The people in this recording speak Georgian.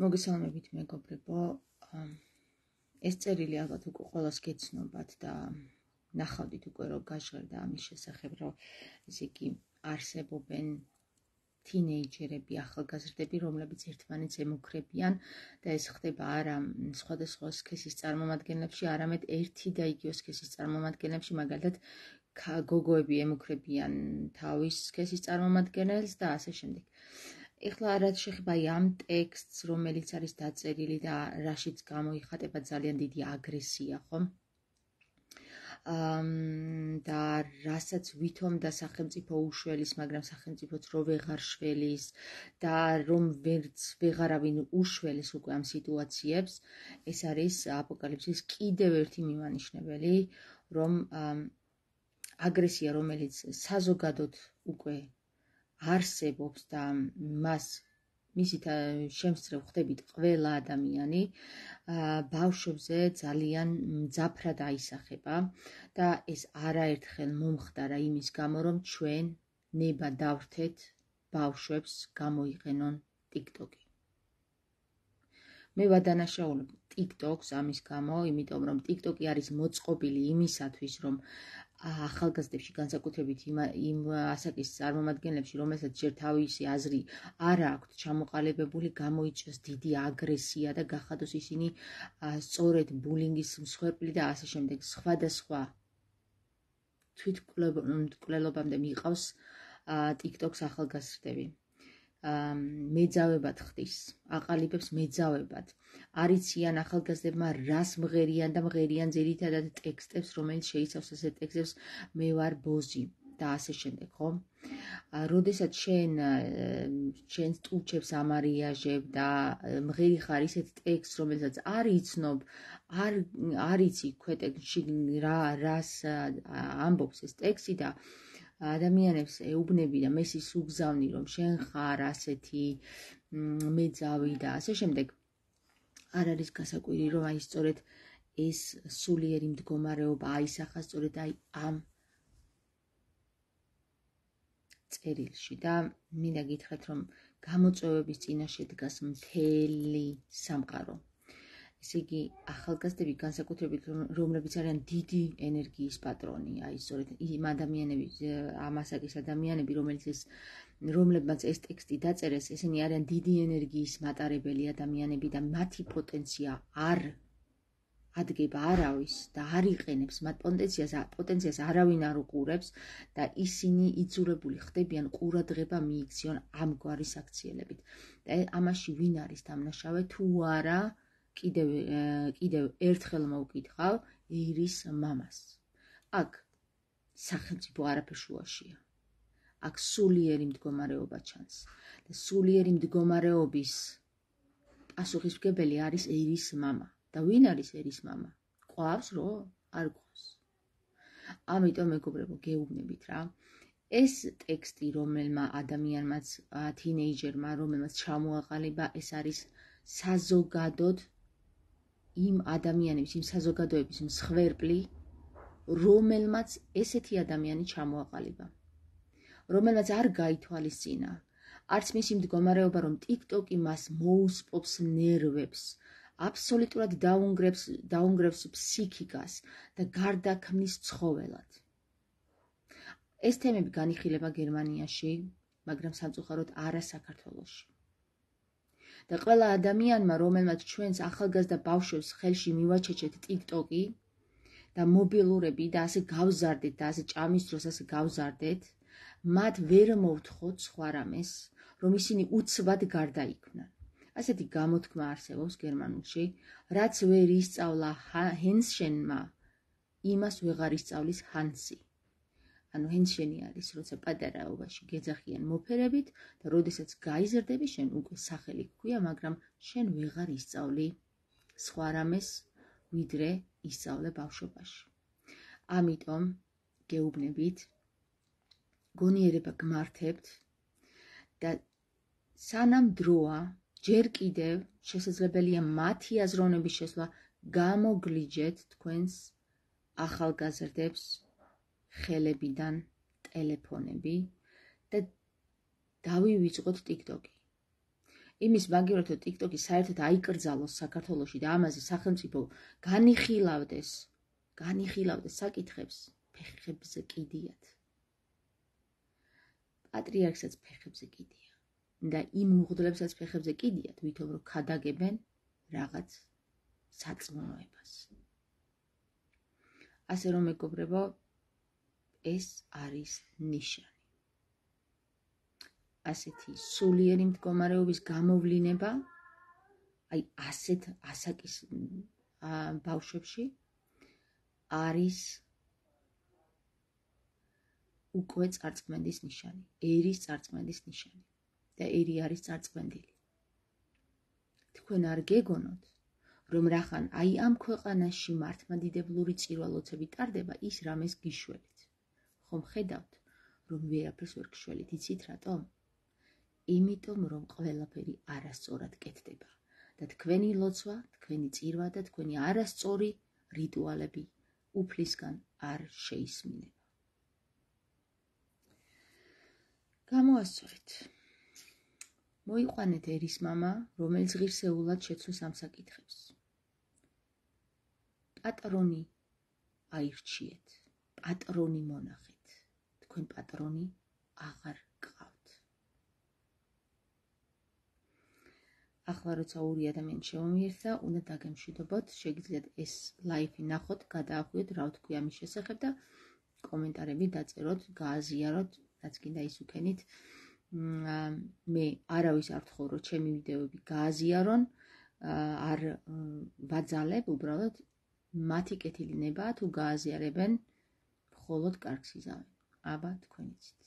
მოგესალმებით მეგობრებო, ეს წერილი ალბათ უკვე ყველას გეცნობათ და ნახავდით უკვე რომ გაჟღერდა ამის შესახებ, რომ ესე იგი არსებობენ თინეიჯერები, ახალგაზრდები, რომლებიც ერთმანეთს ემუქრებიან და ეს ხდება არა სხვადასხვა სქესის წარმომადგენლებში, არამედ ერთი და იგივე სქესის წარმომადგენლებში, მაგალითად გოგოები ემუქრებიან თავის სქესის წარმომადგენელს და ასე შემდეგ. ეხლა რაც შეხება ამ ტექსტს, რომელიც არის დაწერილი და რაშიც გამოიხატება ძალიან დიდი აგრესია, ხომ? და რასაც ვითომ და სახელმწიფო უშველის, მაგრამ სახელმწიფოც რო ვეღარ შველის და რომ ვეღარავინ უშველის უკვე ამ სიტუაციებს, ეს არის აპოკალიფსის კიდევ ერთი მიმანიშნებელი, რომ აგრესია, რომელიც საზოგადოდ უკვე არსებობს და მისით შემსწრევ ხდებით ყველა ადამიანი, ბავშვებზე ძალიან მძაფრად აისახება და ეს არაერთხელ მომხდარა იმის გამო, რომ ჩვენ ნება დავრთეთ ბავშვებს გამოიყენონ TikTok-ი. მე ვადანაშაულებ TikTok-ს ამის გამო, იმიტომ რომ TikTok-ი არის მოწყობილი იმისათვის, რომ ახალგაზრდებში, განსაკუთრებით იმ ასაკის წარმომადგენლებში, რომელსაც ჯერ თავისი აზრი არ აქვთ ჩამოყალიბებული, გამოიწვიოს დიდი აგრესია და გახადოს ისინი სწორედ ბულინგის მსხვერპლი და ასე შემდეგ. სხვადასხვა თვითმკვლელობამდე მიყავს TikTok-ს ახალგაზრდები. მეძავებად ხდის, აყალიბებს მეძავებად. არიციან ახალგაზრდებმა რას მღერიან და მღერიან ძირითადად ტექსტებს, რომელიც შეიცავს ასეთ ტექსტებს მე ვარ ბოზი და ასე შემდეგ, ხო? როდესაც შენს ტუჩებს ამარიაჟებ და მღერი ხარ ისეთ ტექსტს, რომელსაც არ იცნობ, არ იცი ქვეტეში რას ამბობს ეს ტექსტი და ადამიანებს ეუბნები და მესის უგზავნი, რომ შენ ხარ ასეთი მეძავი და ასე შემდეგ. არ არის გასაკვირი, რომ აი სწორედ ეს სულიერი მდგომარეობა აისახა სწორედ აი ამ წერილში და მინდა გითხრათ, რომ გამოწვევების წინაშე დგას მთელი სამყარო. ესე იგი, ახალგაზრდები განსაკუთრებით, რომლებიც არიან დიდი ენერგიის პატრონი, აი სწორედ იმ ადამიანები, ამ ასაკის ადამიანები, რომლებმაც ეს ტექსტი დაწერეს, ესენი არიან დიდი ენერგიის მატარებელი ადამიანები და მათი პოტენცია არ ადგება არავის და არ იყენებს, მათ პოტენციას არავინ არ უყურებს და ისინი იძულებული ხდებიან ყურადღება მიიქციონ ამგვარი საქციელებით. და ამაში ვინ არის დამნაშავე, თუ არა კიდევ ერთხელ მოვკითხავ ერის მამას. აქ სახელმწიფო არაფერ შუაშია. აქ სულიერი მდგომარეობა ჩანს და სულიერი მდგომარეობის პასუხისმგებელი არის ერის მამა. და ვინ არის ერის მამა? ყვავს რო? არ ყვავს. ამიტომ მეგობრებო, გეუბნებით რა. ეს ტექსტი, რომელმა ადამიანმაც, თინეიჯერმა, რომელმაც ჩამოაყალიბა, ეს არის საზოგადოდ იმ ადამიანების, იმ საზოგადოების მსხვერპლი, რომელმაც ესეთი ადამიანი ჩამოაყალიბა. რომელმაც არ გაითვალისწინა, არც მისი მდგომარეობა, რომ TikTok-ი მას მოუსპობს ნერვებს, აბსოლუტურად დაუნგრევს ფსიქიკას და გარდაქმნის ცხოველად. ეს თემები განიხილება გერმანიაში, მაგრამ სამწუხაროდ არა საქართველოში. და ყველა ადამიანმა, რომელმაც ჩვენს ახალგაზრდა ბავშვებს ხელში მივაჩეჩეთ TikTok-ი და მობილურები და ასე გავზარდეთ და ასე ჭამის დროს ასე გავზარდეთ, მათ ვერ მოვთხოვთ სხვა რამეს, რომ ისინი უცბად გარდაიქმნან. ასეთი გამოთქმა არსებობს გერმანულში, რაც ვერ ისწავლა ჰენსშენმა, იმას ვეღარ ისწავლის ჰანსი. ანუ ჰენსშენი არის, როცა პატარაობაში გეძახიან მოფერებით და როდესაც გაიზრდები, შენ უკვე სახელი გქვია, მაგრამ შენ ვეღარ ისწავლი სხვა რამეს, ვიდრე ისწავლე ბავშვობაში. ამიტომ გეუბნებით, გონიერება გმართებთ და სანამ დროა, ჯერ კიდევ შესაძლებელია მათი აზროვნების შესვლა, გამოგლიჯეთ თქვენს ახალგაზრდებს ხელებიდან ტელეფონები და დავივიწყოთ TikTok-ი. იმის მაგივრად რომ TikTok-ი საერთოდ აიკრძალოს საქართველოში და ამაზე სახელმწიფო განიხილავდეს საკითხებს, ფეხებზე კიდიათ. პატრიარქსაც ფეხებზე კიდია და იმ უღდლებსაც ფეხებზე კიდიათ, ვითომ რომ ქადაგებენ რაღაც საწმუნოებას. ასე რომ მეგობრებო, ეს არის ნიშანი. ასეთი სულიერი მდგომარეობის გამოვლინება, აი ასეთ ასაკის ბავშვებში არის უკვე წარწმენდის ნიშანი, ერის წარწმენდის ნიშანი და ერი არის წარწმენდილი. თქვენ არ გეგონოთ, რომ რახან აი ამ ქვეყანაში მართლმადიდებლური წირვა-ლოცები ტარდება, ის რამეს გიშველით. ხომ ხედავთ, რომ ვერაფერს ვერ გშველით, იცით რატომ? იმიტომ, რომ ყველაფერი არასწორად კეთდება და თქვენი ლოცვა, თქვენი წირვა და თქვენი არასწორი რიტუალები უფლისგან არ შეისმინება. გამოასწორეთ. მოიყვანეთ ერის მამა, რომელიც ღირსეულად შეცვლის ამ საკითხებს. პატრონი აირჩიეთ, პატრონი მონახეთ. თქვენ პატრონი აღარ გყავთ. ახლა როცა ორი ადამიანი შემომიერთა, უნდა დაგემშვიდობოთ, შეგიძლიათ ეს ლაიფი ნახოთ, გადაახვიოთ, რა ვთქვი ამის შესახებ და კომენტარები დაწეროთ, გააზიაროთ, რაც გინდა ის უქენით. მე არავის არ ვთხოვ, რომ ჩემი ვიდეოები გააზიარონ, არ ვაძალებ, უბრალოდ მათი კეთილი ნება თუ გააზიარებენ, მხოლოდ კარგს იზავენ. აბა თქვენ იცით.